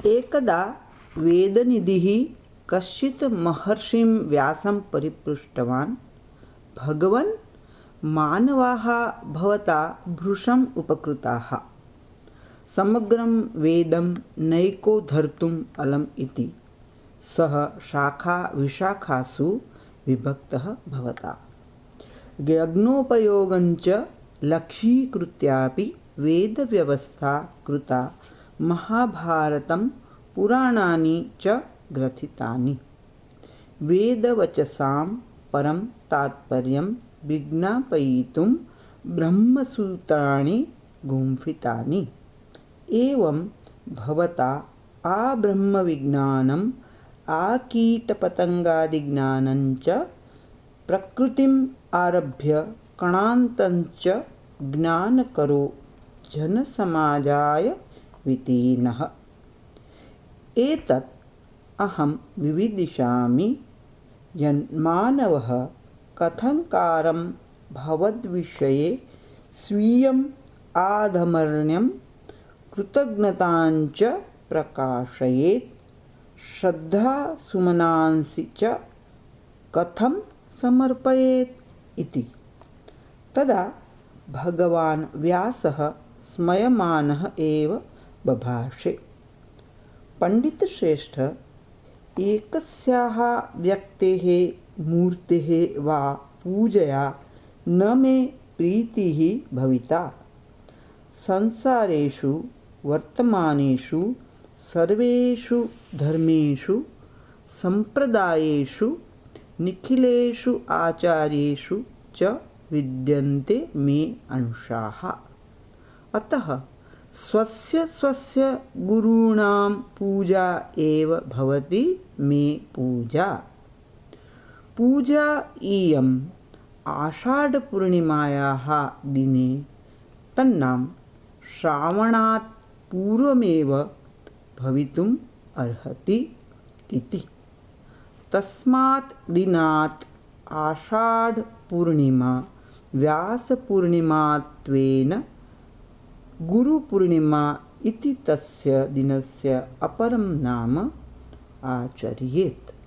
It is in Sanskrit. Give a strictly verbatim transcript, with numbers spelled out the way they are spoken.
एकदा वेदनिधिः कश्चित् महर्षिं व्यासं परिपृष्टवान्, भगवन्, मानवाः भवता भृशम् उपकृताः। समग्रं वेदं नैकोद्धर्तुम् अलम् इति। सः शाखाविशाखासु विभक्तः भवता। यज्ञोपयोगञ्च लक्ष्यीकृत्यापि वेदव्यवस्था कृता। महाभारतं पुराणानि च ग्रथितानि। वेदवचसां परं तात्पर्यं विज्ञापयितुं ब्रह्मसूत्राणि गुम्फितानि। एवं भवता आब्रह्मविज्ञानम् आकीटपतङ्गादिज्ञानञ्च प्रकृतिम् आरभ्य कणान्तञ्च ज्ञानकरो जनसमाजाय वितीर्णः। एतत् अहं विविदिषामि यन्मानवः कथङ्कारं भवद्विषये स्वीयम् आधमर्ण्यं कृतज्ञताञ्च प्रकाशयेत्, श्रद्धासुमनांसि च कथं समर्पयेत् इति। तदा भगवान् व्यासः स्मयमानः एव बभाषे, पण्डितश्रेष्ठ, एकस्याः व्यक्तेः मूर्तेः वा पूजया न मे प्रीतिः भविता। संसारेषु वर्तमानेषु सर्वेषु धर्मेषु सम्प्रदायेषु निखिलेषु आचार्येषु च विद्यन्ते मे अंशाः। अतः स्वस्य स्वस्य गुरूणां पूजा एव भवति मे पूजा। पूजा इयम् आषाढपूर्णिमायाः दिने, तन्नाम श्रावणात् पूर्वमेव भवितुम् अर्हति इति। तस्मात् दिनात् आषाढपूर्णिमा व्यासपूर्णिमात्वेन गुरुपूर्णिमा इति तस्य दिनस्य अपरं नाम आचर्येत्।